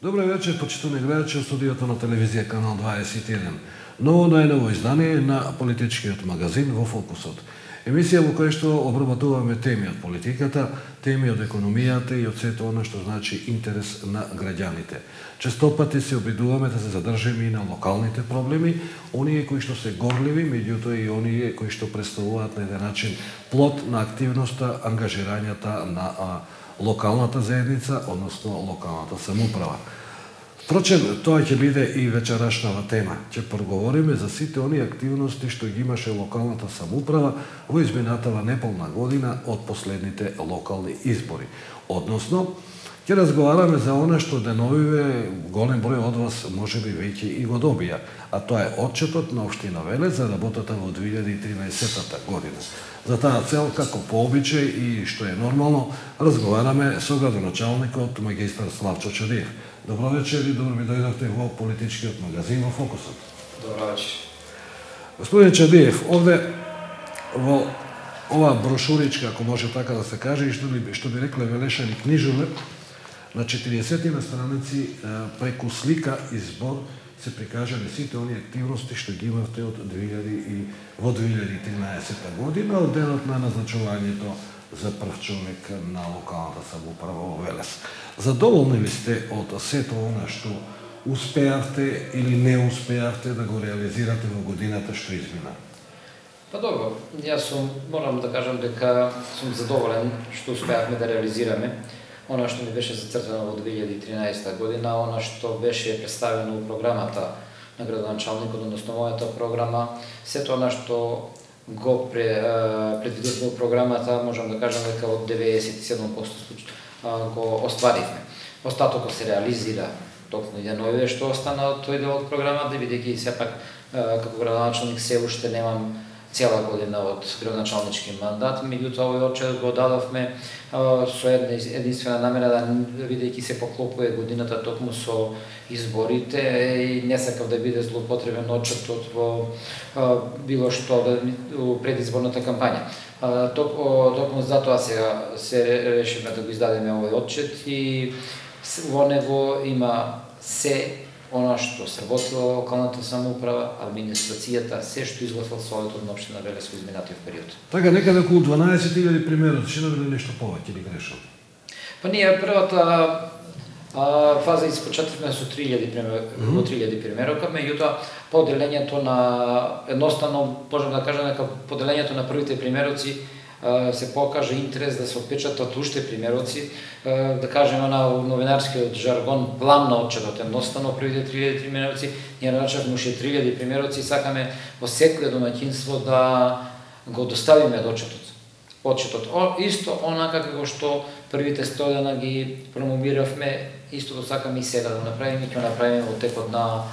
Добро вечер, почитувани гледачи, од студиото на телевизија Канал 21. Ново најново издание на политичкиот магазин во Фокусот. Емисија во која што обработуваме теми од политиката, теми од економијата и од сето она што значи интерес на граѓаните. Честопати се обидуваме да се задржиме и на локалните проблеми, оние кои што се горливи, меѓутоа и оние кои што представуваат на еден начин плод на активноста, ангажирањата на локалната заедница, односно локалната самоуправа. Впрочем, тоа ќе биде и вечерашнава тема. Ќе проговориме за сите оние активности што ги имаше локалната самоуправа во изминатава неполна година од последните локални избори. Односно, ќе разговараме за она што деновиве голем број од вас можеби веќе и го добија, а тоа е отчетот на општина Велес за работата во 2013 година. За таа цел, како по обичај и што е нормално, разговараме со градоначалникот магистар Славчо Чадиев. Добро вечер и добро ми дојдовте во политичкиот магазин во Фокусот. Добро вечер. Господин Чадиев, овде во оваа брошуричка, ако може така да се каже, и што би рекле велешани книжове, на 40 на страници преку слика и збор се прикажани сите оние активности што ги имавте од во 2013 година, од денот на назначувањето за прв човек на локалната самоуправа во Велес. Задоволни ли сте од сето она што успеавте или не успеавте да го реализирате во годината што измина? Па добро, јас морам да кажам дека сум задоволен што успеавме да реализираме она што ми беше зацртано во 2013 година, она што беше представено во програмата на градоначалникот, односно мојата програма, сето она што го предвидовме во програмата, можам да кажам дека од 97% го остваривме. Остатокот се реализира токму и деновиве што остана од тој дел од програмата, бидејќи сепак како градоначалник се уште немам цела година од градоначалнички мандат, меѓутоа овој отчет го дадовме со една единствена намера, бидејќи се поклопува годината токму со изборите и не сакав да биде злоупотребен отчетот во било што во предизборната кампања. Токму затоа сега се решивме да го издадеме овој отчет и во него има се она што сработила локалната самоуправа, администрацијата, се што изгласал Советот на општина Велес во изминатиот период. Така, некаде околу 12.000 примероци, ще набиле нешто повеќе или грешам? Па ние првата фаза испочетивме со 3.000 примерока, меѓутоа поделењето на едноставно можам да кажам дека поделењето на првите примероци се покажа интерес да се отпечатат уште примероци, да кажеме на новинарскиот жаргон план на отчетот, едноставно првите 3.000 примероци, ние начавме уште 3.000 примероци и сакаме во секое домаќинство да го доставиме отчетот. Исто онака како што првите 100 дена ги промовиравме, истото сакаме и сега да направиме, ќе направиме во текот на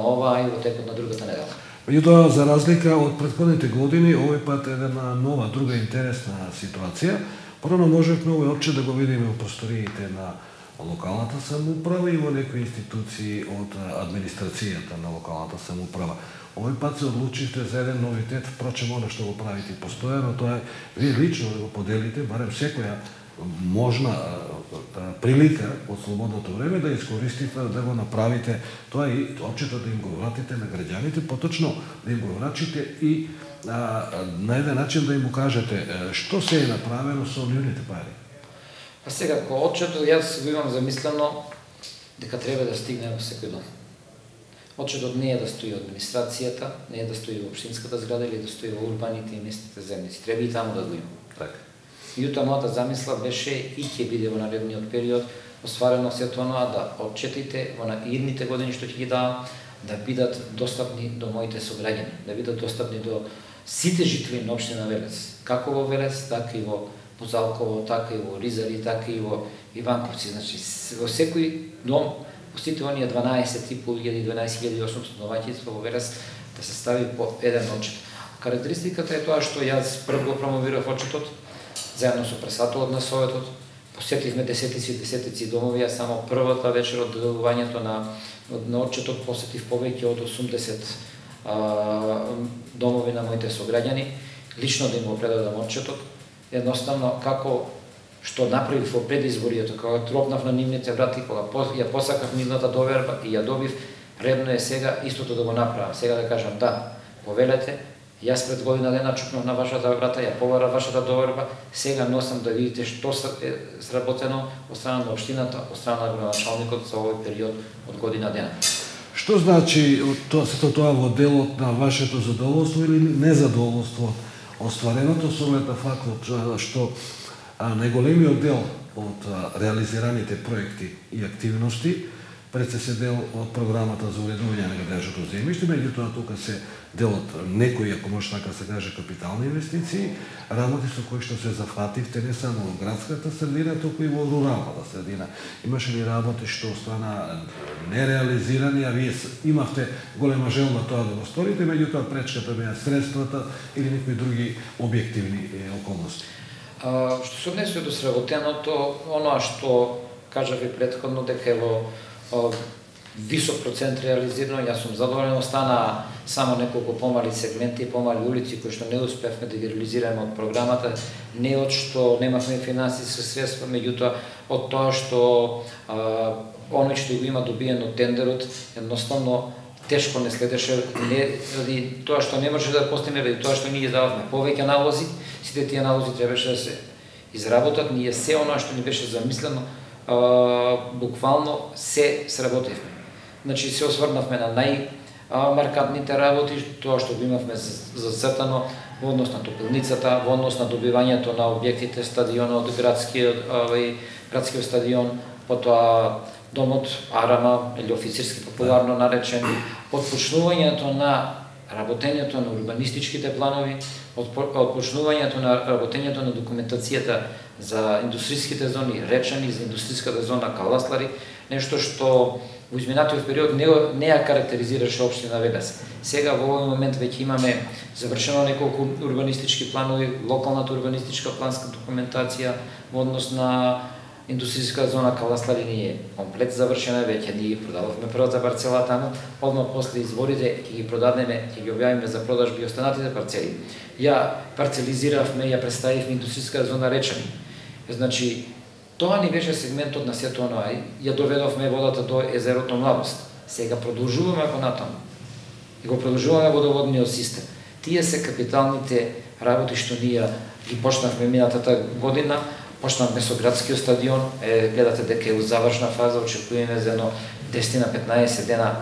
ова и во текот на другата недела. Меѓутоа, за разлика од претходните години, овој пат е една нова, друга интересна ситуација. Прво можевме овој отчет да го видиме во просториите на локалната самоуправа и во некои институции од администрацијата на локалната самоуправа. Овој пат се одлучивте за еден новитет, впрочем, оно што го правите постојано, тоа е вие лично да го поделите, барем секоја можна прилика од слободното време да искористите да го направите тоа и отчетот да им го вратите на граѓаните, поточно да им го врачите и на еден начин да им го кажете што се е направено со нивните пари. А сега, кој отчетот, јас го имам замислено дека треба да стигне во секој дом. Отчетот не е да стои во администрацијата, не е да стои во општинската зграда или да стои во урбаните и местните земјици. Треба и таму да го има. Така. Јута мојата замисла беше и ќе биде во наредниот период остварено сето тоа да отчетите во идните години што ќе ги дадам да бидат достапни до моите сограѓани, да бидат достапни до сите жители на општина Велес, како во Велес, така и во Бузалково, така и во Ризари, така и во Иванковци. Значи, во секој дом, во сите оние 12.500-12.800 домаќинства во Велес да се стави по еден отчет. Карактеристиката е тоа што јас прв го промовирав отчетот, заедно со председателот на Советот, посетивме десетици домови, а само првата вечер од доделувањето на отчетот посетив повеќе од 80 домови на моите сограѓани, лично да им го предадам отчетот, едноставно како што направив во предизборието, кога тропнав на нивните врати, кога ја посакав нивната доверба и ја добив, редно е сега истото да го направам. Сега да кажам да, повелете, јас пред година дена чукнав на вашата врата, ја побарав вашата доверба, сега носам да видите што е сработено од страна на општината, од страна на градоначалникот за овој период од година дена. Што значи сето тоа во делот на вашето задоволство или незадоволство оствареното со оглед на фактот што најголемиот дел од реализираните проекти и активности пред се дел од програмата за уредување на градежното земјиште, меѓутоа тука се дел од некои, ако може така се каже, капитални инвестиции, работи со кои што се зафативте не само во градската средина, туку и во руралната средина. Имаше ли работи што остана нереализирани, а вие имавте голема желба тоа да го сторите, меѓутоа пречката беа средствата или некои други објективни околности? Што се однесува до сработеното, оноа што кажав и претходно дека е во висок процент реализирано, јас сум задоволен, остана само неколку помали сегменти и помали улици кои што не успевме да ги реализираме од програмата, не од што немавме финансиски средства, меѓутоа од тоа што оној што го има добиено тендерот, едноставно тешко не следеше, не ради тоа што не може да постигне, ради тоа што ние дававме повеќе налози, сите тие налози требаше да се изработат, ние се оноа што ни беше замислено, буквално се сработивме. Значи се осврнавме на најмаркантните работи, тоа што го имавме зацртано во однос на топилницата, во однос на добивањето на објектите, стадионот, градскиот стадион, потоа домот Арама, или офицерски популарно наречен, отпочнувањето на работењето на урбанистичките планови, отпочнувањето на работењето на документацијата за индустриските зони, Речани, за индустриската зона Каласлари, нешто што во изминатиот период не ја карактеризираше општина Велес. Сега во овој момент веќе имаме завршено неколку урбанистички планови, локалната урбанистичка планска документација во однос на индустријска зона Каласлари ни е комплет завршена, веќе ние ги продадовме првата парцела таму, одма после изборите ќе ги продадеме, ќе ги објавиме за продажби и останатите парцели. Ја парцелизиравме, ја представивме индустријска зона Речани. Значи, тоа ни беше сегментот на сето оноа, ја доведовме водата до езерото Младост. Сега продолжуваме понатаму. И го продолжуваме водоводниот систем. Тие се капиталните работи што ние ги почнавме минатата година. Почнавме со градскиот стадион, гледате дека е у завршна фаза, очекуваме за едно 10-15 дена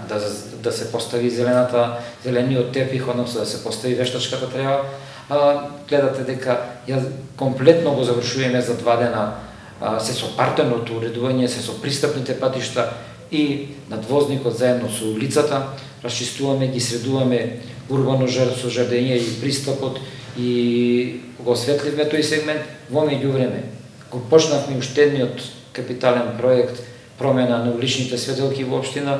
да се постави зелениот тепих, односно да се постави вештачката трева. Гледате дека ја комплетно го завршуваме за 2 дена, се со партерното уредување, се со пристапните патишта и надвозникот заедно со улицата, расчистуваме, ги средуваме урбано со жардење и пристапот и го осветливме тој сегмент. Во меѓувреме го почнавме уштедниот капитален проект промена на уличните светелки во општина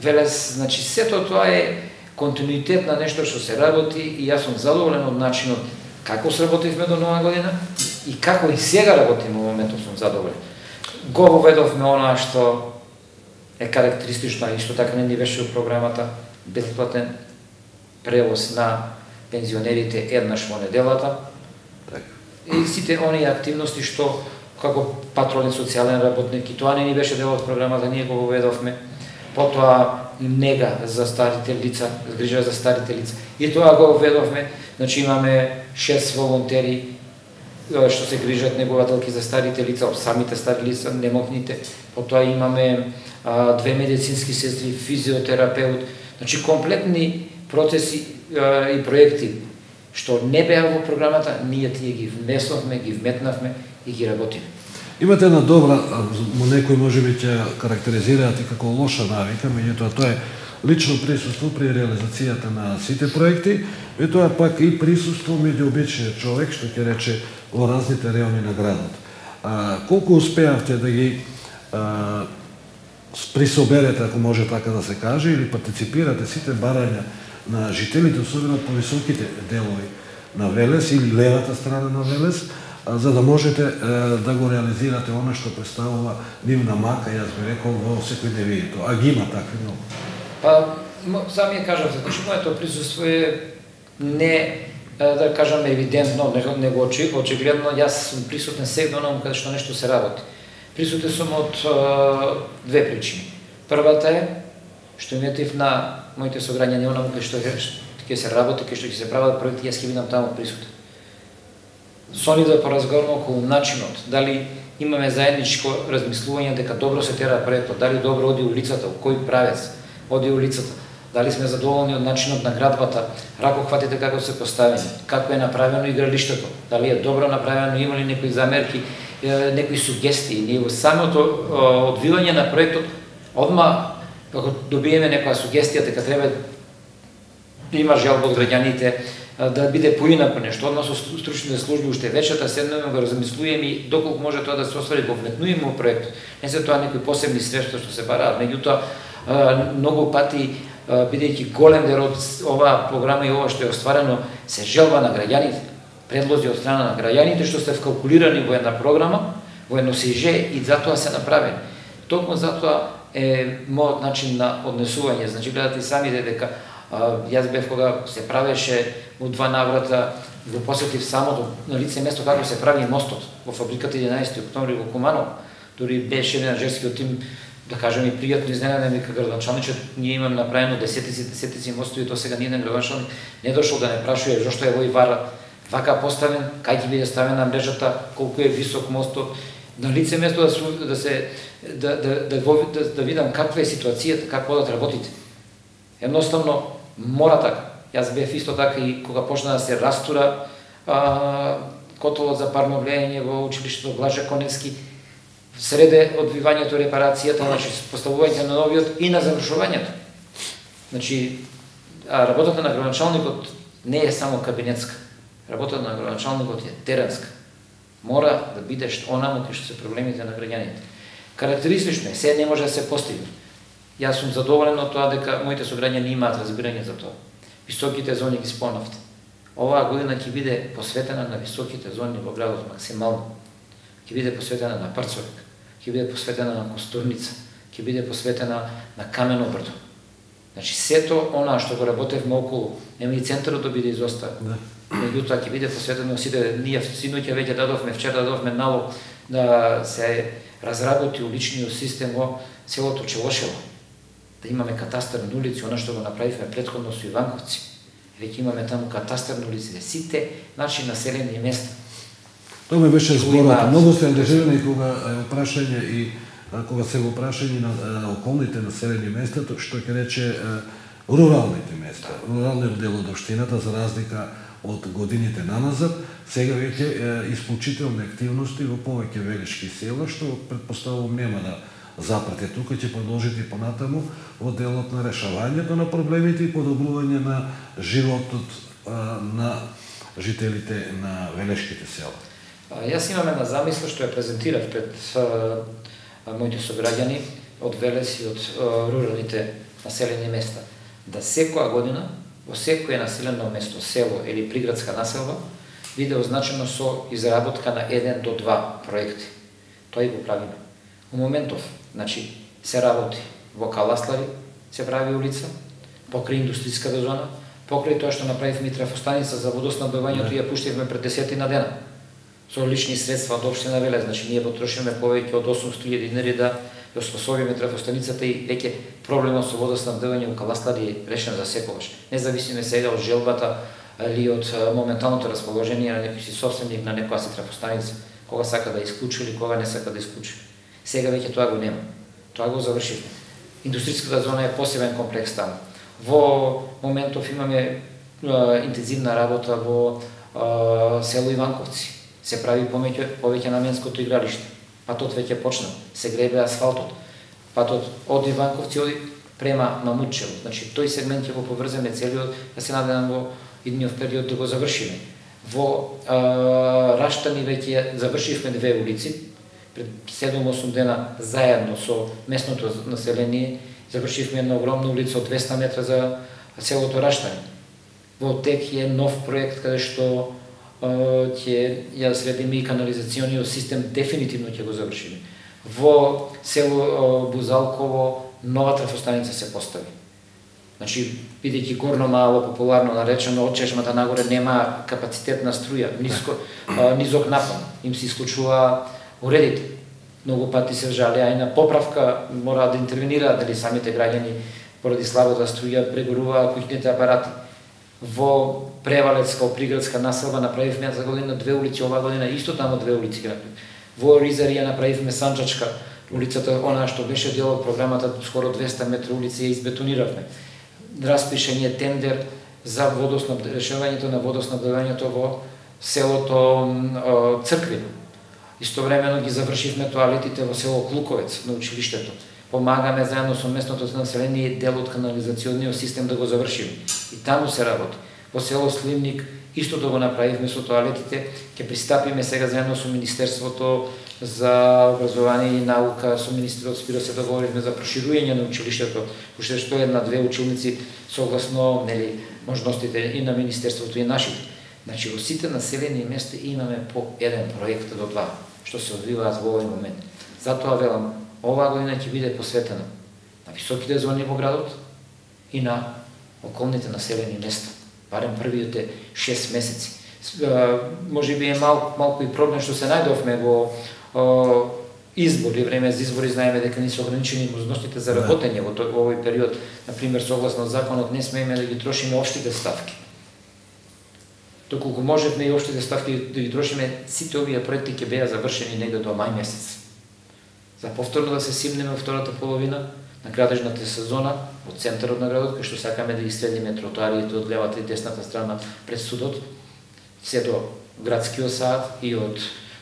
Велес. Значи сето тоа е континуитет на нешто што се работи и јас сум задоволен од начинот како сработивме до нова година и како и сега работиме во моментот сум задоволен. Го воведовме онаа што е карактеристично, исто така не ни беше во програмата, бесплатен превоз на пензионерите еднаш во неделата. И сите оние активности што како патролен социјален работник, и тоа не ни беше дел од програмата, ние го воведовме. Потоа нега за старите лица, грижа за старите лица. И тоа го воведовме. Значи имаме 6 волонтери што се грижат негователки за старите лица, самите стари лица, немокните. Потоа имаме 2 медицински сестри, физиотерапеут. Значи комплетни процеси и проекти што не беа во програмата, ние тие ги внесовме, ги вметнавме и ги работиме. Имате една добра, некои можеби ќе карактеризираат и како лоша навика, меѓутоа тоа е лично присуство при реализацијата на сите проекти, и тоа пак и присуство меѓу обичниот човек, што ќе рече во разните реони на градот. Колку успеавте да ги присоберете, ако може така да се каже, или партиципирате сите барања на жителите, особено по високите делови на Велес или левата страна на Велес, за да можете да го реализирате оно што представува нивна мака, јас би рекол, во секојдневието, а ги има такви многу. Сами ја кажавте, значи моето присуство е не да кажам евидентно, него очигледно, јас сум присутен сега на каде што нешто се работи. Присутен сум од две причини. Првата е што иметив на моите сограѓани онаму каде што ќе се работи, каде што ќе се прават проекти, јас ќе бидам таму присутен. Со нив да поразговараме околу начинот, дали имаме заедничко размислување дека добро се тера проектот, дали добро оди улицата, во кој правец оди улицата, дали сме задоволни од начинот на градбата, ракохватите како се поставени, како е направено игралиштето, дали е добро направено, има ли некои замерки, некои сугестии. Ние во самото одвивање на проектот, одма како добиеме некоја сугестија дека треба да има жалба од граѓаните, да биде поинако нешто, одма со стручните служби уште вечерта седнеме, го размислуваме и доколку може тоа да се оствари, го вметнуваме во проектот. Не се тоа некои посебни средства што се бараат, меѓутоа многу пати бидејќи голем дел од оваа програма и ова што е остварено се желба на граѓаните, предлози од страна на граѓаните што се вкалкулирани во една програма, во едно СИЖ и затоа се направени. Токму затоа е мојот начин на однесување. Значи гледате и самите дека јас бев кога се правеше во два наврата, го посетив самото на лице место како се прави мостот во фабриката 11 октомври во Куманово. Дури беше еден женскиот тим, да кажем, и пријатно изненаден дека градоначалничот, ние имаме направено десетици мостови, до сега ниеден градоначалник не дошол да не прашува зошто е овој вара вака поставен, кај ќе биде ставена мрежата, колку е висок мостот, на лице место да видам каква е ситуацијата, како да работите. Едноставно мора така. Јас бев исто така и кога почна да се растура котолот за парно влијање во училиштето Блаже Коневски, среде одвивањето, репарацијата, значи поставувањето на новиот и на завршувањето. Значи, работата на градоначалникот не е само кабинетска. Работата на градоначалникот е теренска. Мора да бидеш онаму кај што се проблемите на граѓаните. Карактеристично е, се не може да се постигне. Јас сум задоволен од тоа дека моите сограѓани имаат разбирање за тоа. Високите зони ги спомнавте. Оваа година ќе биде посветена на високите зони во градот максимално. Ќе биде посветена на Парцовик, ќе биде посветена на Костурница, ќе биде посветена на Камено брдо. Значи сето она што го работевме околу, нема и центарот да биде изоставен. Меѓутоа ќе биде посветено сите, ние синоќа веќе дадовме, вчера дадовме налог да се разработи уличниот систем во селото Челошево. Да имаме катастарни улици, она што го направивме претходно со Иванковци. Веќе имаме таму катастарни улици, сите наши населени места. Тоа ме беше зборот. Многу се ангажирани кога е прашање и кога се го прашање на околните населени места, што ќе рече руралните места, руралниот дел од општината, за разлика од годините наназад, сега веќе исклучителни активности во повеќе велички села, што предпоставувам нема да запрате тука, ќе продолжите понатаму во делот на решавањето на проблемите и подобрување на животот на жителите на велешките села. Јас имам една замисла што ја презентирав пред моите сограѓани од Велес и од руралните населени места. Да секоја година во секое населено место, село или приградска населба биде означено со изработка на 1 до 2 проекти. Тоа и го правиме. У моментов, значи, се работи во Каласлари, се прави улица, покрај индустријската зона, покрај тоа што направивме трафостаница за водоснабдувањето и ја пуштивме пред 10 на дена. Со лични средства од општина Велес, значи ние потрошиме повеќе од 800.000 динари да ја способиме трафостаницата и веќе проблемот со водоснабдување во Каласлари е решен за секогаш. Независиме сега од желбата или од моменталното расположение на некој си собственик на некоја си трафостаница, кога сака да исклучи или кога не сака да исклучи. Сега веќе тоа го нема. Тоа го завршивме. Индустријската зона е посебен комплекс таму. Во моментов имаме интензивна работа во село Иванковци. Се прави повеќе наменското игралиште. Патот веќе почна, се гребе асфалтот. Патот од Иванковци оди према Мамутчево. Значи тој сегмент ќе го поврземе целиот, да се надевам во идниот период да го завршиме. Во Раштани веќе завршивме 2 улици, пред 7-8 дена заедно со местното население завршивме една огромна улица од 200 метра за селото Раштани. Во тек е нов проект каде што ќе ја средиме и канализациониот систем, дефинитивно ќе го завршиме. Во село Бузалково нова трафостаница се постави. Значи, бидејќи горно мало популарно наречено, од чешмата нагоре нема капацитет на струја, низок напон, им се исклучува уредите. Многу пати се жалеа и на поправка, мораат да интервенираат, дали самите граѓани поради слабата струја прегоруваат куќните апарати. Во Превалец, као приградска населба, направивме за година 2 улици, оваа година исто тамо 2 улици ги направивме. Во Ризарија направивме Санчачка, улицата, она што беше дел од програмата, скоро 200 метра улици ја избетониравме. Распишен е тендер за решавањето на водоснабдевањето во селото Црквино. Истовремено ги завршивме тоалетите во село Клуковец на училиштето. Помагаме заедно со местното население дел од канализационниот систем да го завршиме. И таму се работи. Во село Сливник истото го направивме со тоалетите, ќе пристапиме сега заедно со Министерството за образование и наука, со министерот Спиро се договоривме за проширување на училиштето, пошто што една-две училници согласно можностите и на Министерството и нашите. Значи, во сите населени места имаме по еден проект до два, што се одвиваат во овој момент. Затоа велам, оваа година ќе биде посветена на високите зони во градот и на околните населени места. Барем првите 6 месеци. Може би е малку и проблем што се најдовме во избори, време за избори, знаеме дека не се ограничени можностите за работење во овој период. Например, согласно законот не смееме да ги трошиме општите ставки. Доколку можевме и општите ставки да ги трошиме, сите овие проекти ќе беа завршени негде до мај месец. За повторно да се симнеме во втората половина на градежната сезона во центарот на градот, кај што сакаме да ги средиме тротоарите од левата и десната страна пред судот, се до градскиот сад и од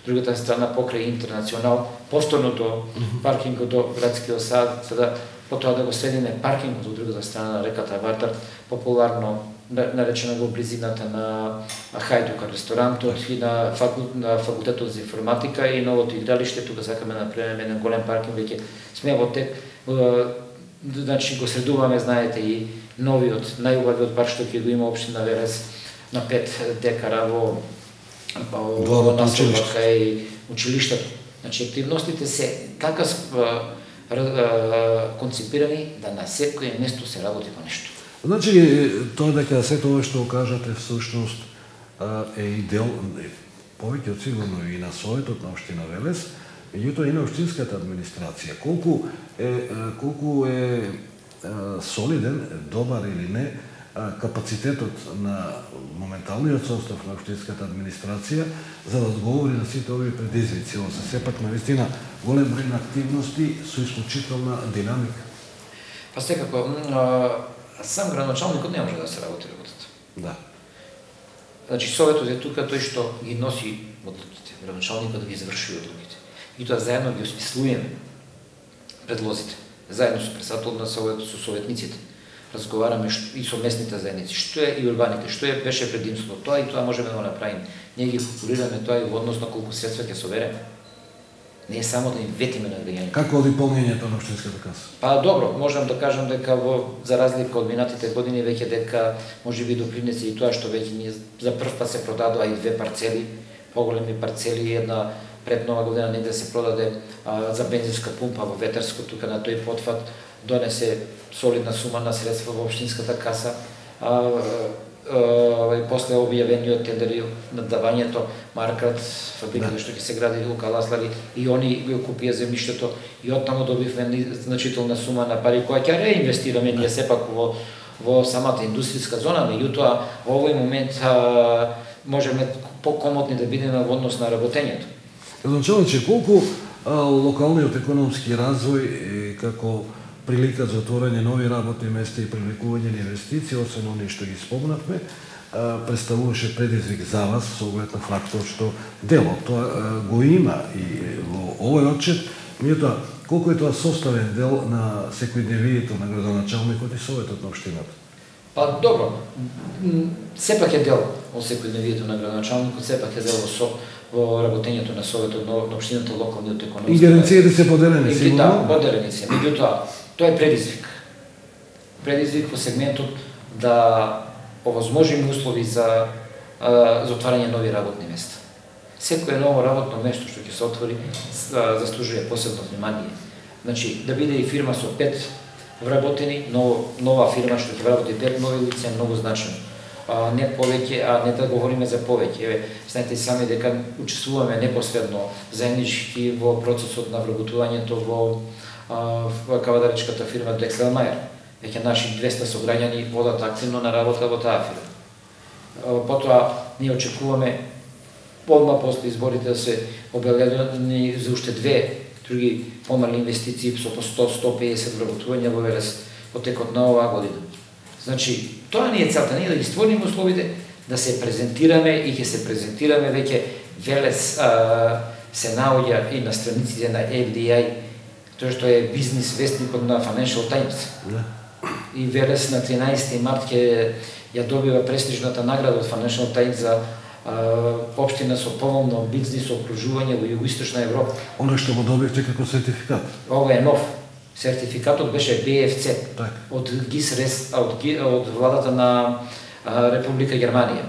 другата страна покрај Интернационал, повторно до паркингот до градскиот сад, за да потоа да го средиме паркингот од другата страна на реката Вартар, популарно наречена во близината на Хајдука ресторантот и на факултетот за информатика и новото игралиште. Тука сакаме да направиме еден голем паркинг, веќе сме во тек. Значи го средуваме, знаете, и новиот, најубавиот парк што ќе го има општина Велес на 5 декара во населбата и училиштето. Значи, активностите се така конципирани да на секое место се работи по нешто. Значи, тоа дека се тоа што кажате всушност е и дел, повеќе од сигурно и на Советот на општина Велес, меѓутоа и на општинската администрација. Колку е солиден, добар или не, капацитетот на моменталниот состав на општинската администрација за да одговори на сите овие предизвици. Ово се сепак навистина голем број на активности со исклучителна динамика. Па секако, сам градоначалникот не може да се работи работата. Да. Значи, Советот е тука тој што ги носи одлуките, градоначалникот да ги завршува одлуките. И тоа заедно ги осмислуваме предлозите, заедно со председателот на Советот, со советниците. Разговараме и со местните заедници, што е и урбаните, што беше предимството, тоа и тоа можеме да го направиме. Ние ги калкулираме тоа и во однос на колку средства ќе собереме. Не е само да им ветиме на граѓаните. Како оди полнењето на општинската каса? Па добро, можам да кажам дека за разлика од минатите години веќе дека можеби допринесе и тоа што веќе ние за прв пат се продадоа и 2 парцели, поголеми парцели, една пред нова година негде се продаде за бензинска пумпа во Ветерско, тука на тој потфат донесе солидна сума на средства во општинската каса. И после објавениот тендер на давањето Маркрат, фабриката што ќе се гради во Каласлари, и они го купија земјиштето и оттаму добивме значителна сума на пари која ќе реинвестираме ние сепак во самата индустријска зона, меѓутоа во овој момент можеме покомотни да бидеме во однос на работењето. Градоначалниче, колку локалниот економски развој како прилика за отворање нови работни места и привлекување на инвестиции, освен оние што ги спомнавме, представуваше предизвик за вас со оглед на фактот што делот тоа го има и во овој отчет, меѓутоа колку е тоа составен дел на секојдневието на градоначалникот и Советот на општината? Па добро, сепак е дел од секојдневието на градоначалникот, сепак е дел во работењето на Советот на општината, локалниот економски. Ингеренциите се поделени, сигурно? Да, поделени се. Меѓутоа, тоа е предизвик. Предизвик во сегментот да овозможиме услови за отварање нови работни места. Секое ново работно место што ќе се отвори заслужува посебно внимание. Значи, да биде и фирма со 5 вработени, нова фирма што ќе вработи 5 нови лица е многу значено. Не повеќе, а не да говориме за повеќе. Знаете сами дека учествуваме непосредно заеднички во процесот на вработувањето во кавадаричката фирма Drexel Meyer. Веќе наши 200 сограѓани водат активно на работа во таа фирма. Потоа ние очекуваме одма после изборите да се обеледени за уште две други помали инвестиции со по 100-150 вработувања во Велес во текот на оваа година. Значи, тоа не е целта, ние да ги створиме условите да се презентираме и ќе се презентираме веќе Велес се наоѓа и на страниците на FDI, тоа што е бизнис вестникот на Financial Times. И Велес на 13 март ќе ја добива престижната награда од Financial Times за општина со поволно бизнис окружување во Југоисточна Европа. Оно што го добивте како сертификат? Ова е нов. Сертификатот беше BFC од ГИС од владата на Република Германија.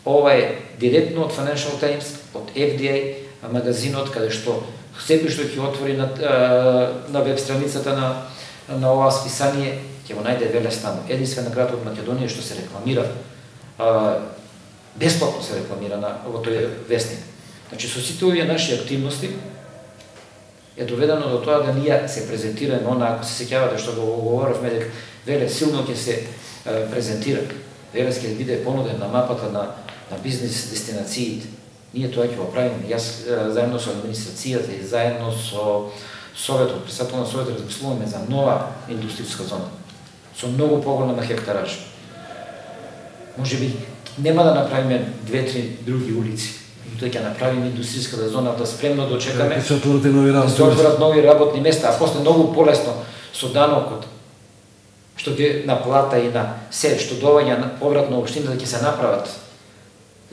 Ова е директно од Financial Times, од FDI, магазинот каде што секој што ќе отвори на веб страницата на оваа списание ќе го најде Велес таму. Единствен град од Македонија што се рекламира, бесплатно се рекламира во тој вестник. Значи со сите овие наши активности е доведено до тоа да ние се презентираме, ако се сеќавате што го говоревме дека Велес силно ќе се презентира. Велес ќе биде понуден на мапата на бизнис дестинациите. Ние тоа ќе го правиме. Јас заедно со администрацијата и заедно со Советот, председател на Советот, размислуваме за нова индустријска зона со многу поголема хектараж. Можеби нема да направиме 2-3 други улици, тој ќе направиме индустријската зона да спремно дочекаме. Ќе се отворат нови работни места, а после многу полесно со данокот што ќе наплата и на се што доаѓа на повратно општината ќе се направат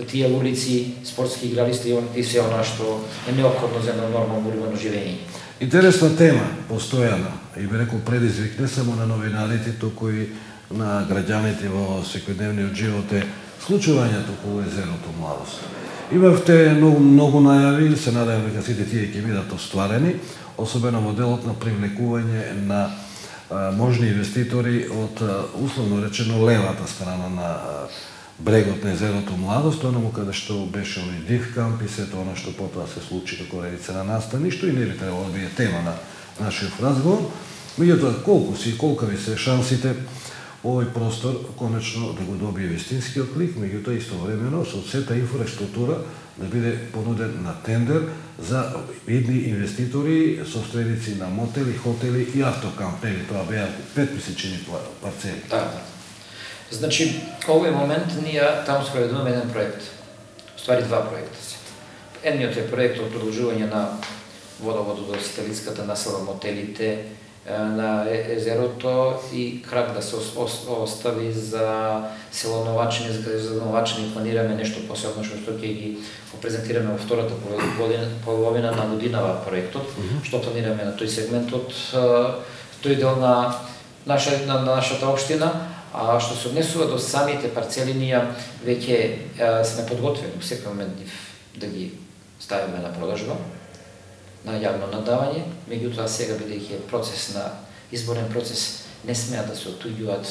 тие улици, спортски игралисти и се она што е неопходно за едно нормално урбано живење. Интересна тема, постојана, и би рекол предизвик не само на новинарите, туку и на граѓаните во секојдневниот живот е случувањето околу езерото Младост. Имавте многу најави, се надевам дека сите тие ќе бидат остварени, особено во делот на привлекување на можни инвеститори од, условно речено, левата страна на брегот на езерото Младост, онаму каде што беше оној див камп и сето она што потоа се случи како редица на настани, што и не би требало да биде тема на нашиот разговор. Меѓутоа, колкави се шансите овој простор конечно да го добие вистинскиот лик, меѓутоа истовремено со сета инфраструктура да биде понуден на тендер за видни инвеститори, собственици на мотели, хотели и автокампери. Тоа беа 5 месечни парцели. Да. Значи, овој момент ние таму спроведуваме еден проект. Ствари два проекта се. Едниот е проект од продолжување на водоводот до сателитската населба, мотелите на езерото и крак да се остави за село Новачини, за Новачини планираме нешто посебно што ќе ги презентираме во втората половина на годинава проектот, што планираме на тој сегментот, тој дел на нашата општина. А што се однесува до самите парцели, ние веќе сме подготвени во секој момент да ги ставиме на продажба, на јавно надавање, меѓутоа сега бидејќи е изборен процес, не смеа да се отуѓуваат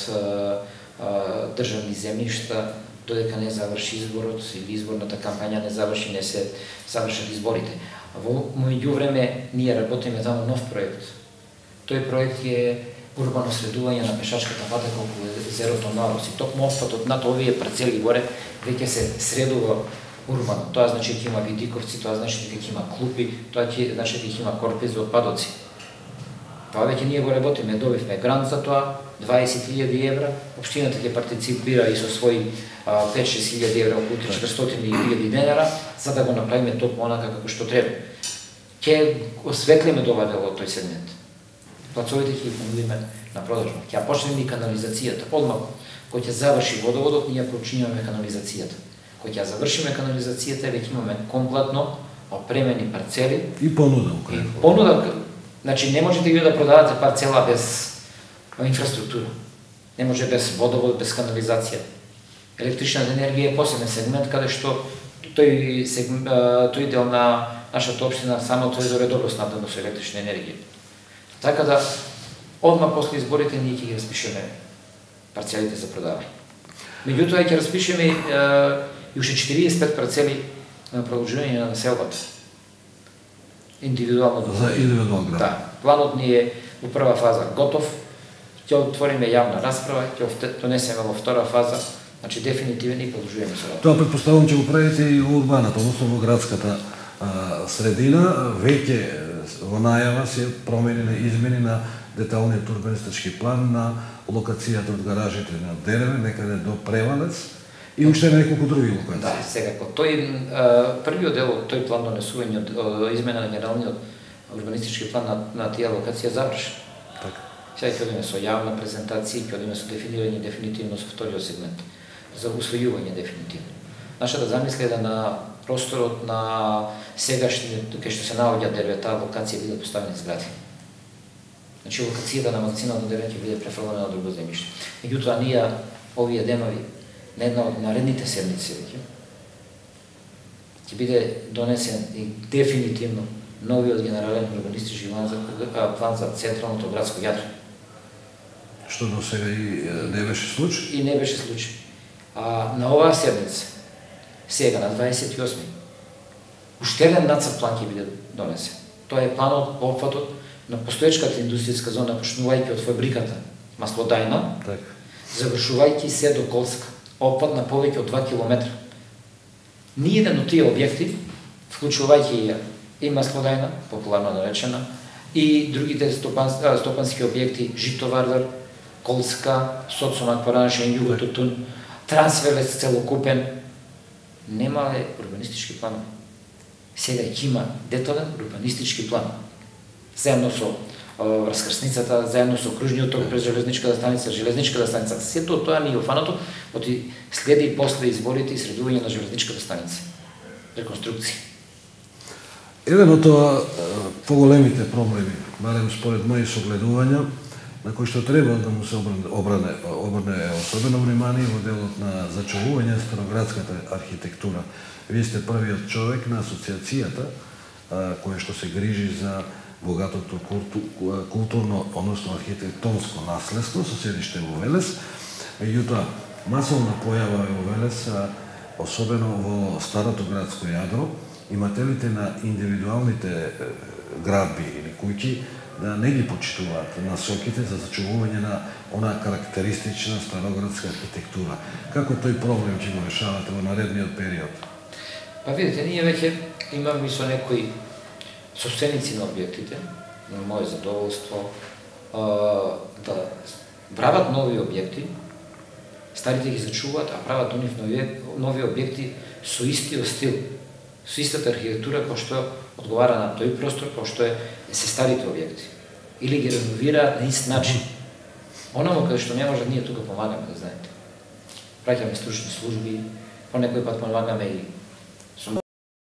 државни земјишта додека не заврши изборот или изборната кампања не заврши, не се завршат изборите. Во меѓувреме ние работиме таму нов проект. Тој проект е урбано следување на пешачката патека околу езерото Младост. И токму отпадот над овие парцели горе веќе се средува урбано. Тоа значи дека има видиковци, тоа значи дека има клупи, тоа значи дека има корпи за отпадоци. Тоа веќе ние го работиме, добивме грант за тоа, 20.000 евра, општината ќе партиципира и со своји 5-6.000 евра, околу 400.000 денара, за да го направиме токму онака како што треба. Ќе осветлиме ова дел од тој сегмент. Плацовите ќе ги понудиме на продажба. Ќе почнеме и канализацијата. Одмah кога ќе заврши водоводот, ние почињаме канализацијата. Кога ќе завршиме канализацијата, веќе имаме комплетно опремени парцели и понуда. Понуда, значи не можете вие да продавате парцела без инфраструктура. Не може без водовод, без канализација. Електричната енергија е посебен сегмент каде што тој дел на нашата општина само тој е добро снабдено со електрична енергија. Така да одма после изборите ние ќе ги распишеме парцелите за продавање. Меѓутоа ќе распишеме и уште 45 парцели на продолжување на населбата. Индивидуално. За индивидуално град. Да. Планот ни е во прва фаза готов, ќе отвориме јавна расправа, ќе донесеме во втора фаза, значи дефинитивен и продолжуваме со работа. Тоа претпоставувам ќе го правите и во урбаната, односно во градската средина, веќе во најава се промени на измени на деталниот урбанистички план на локацијата од гаражите на Дереве, некаде до Превалец и уште неколку други локации. Да, секако. Тој првиот дел од тој план донесување од измена на генералниот урбанистички план на тие локација завршен. Така. Сега ќе одиме со јавна презентација, ќе одиме со дефинирање дефинитивно со вториот сегмент за усвојување дефинитивно. Нашата замисла е да на просторот на сегашниот кај што се наоѓа Дервета локација биде поставени згради. Значи локацијата на магазинот на Дервета ќе биде префрлена на друго земјиште. Меѓутоа ние овие денови на една од наредните седмици веќе ќе биде донесен и дефинитивно новиот генерален урбанистички план за централното градско јадро. Што до сега и не беше случај? И не беше случај. На оваа седмица, сега на 28 уште еден нацрт план ќе биде донесен. Тоа е планот по опфатот на постоечката индустријска зона, почнувајќи од фабриката Маслодајна, завршувајќи се до Колска, опфат на повеќе од 2 километра. Ниеден од тие објекти, вклучувајќи и Маслодајна, популарно наречена, и другите стопански објекти, Житовардар, Колска, Соцонак, Паранашен, Југотутун, Трансвелец целокупен, немале урбанистички планови. Сега ќе има детален урбанистички план. Заедно со раскрсницата, заедно со кружниот ток през железничката станица, сето тоа ни е офанато, оти следи и после изборите и средување на железничката станица. Реконструкција. Еден од тоа поголемите проблеми, барем според мои согледувања, на кој што треба да му се обрне особено внимание во делот на зачувување староградската архитектура. Вие сте првиот човек на асоциацијата кој што се грижи за богатото културно, односно архитектонско наследство со седиште во Велес. Меѓутоа, масовна појава е во Велес, особено во старото градско јадро, имателите на индивидуалните градби или куќи да не ги почитуваат насоките за зачувување на она карактеристична староградска архитектура. Како тој проблем ќе го решавате во наредниот период? Па видите, ние веќе имаме со некои собственици на објектите, на моје задоволство, да прават нови објекти, старите ги зачуваат, а прават до нив нови објекти со истиот стил, со истата архитектура кој што одговара на тој простор кој што се старите објекти. Или ги реновираат на ист начин. Онамо каде што не може, ние тука помагаме, да знаете. Праќаме стручни служби, по некој пат помагаме и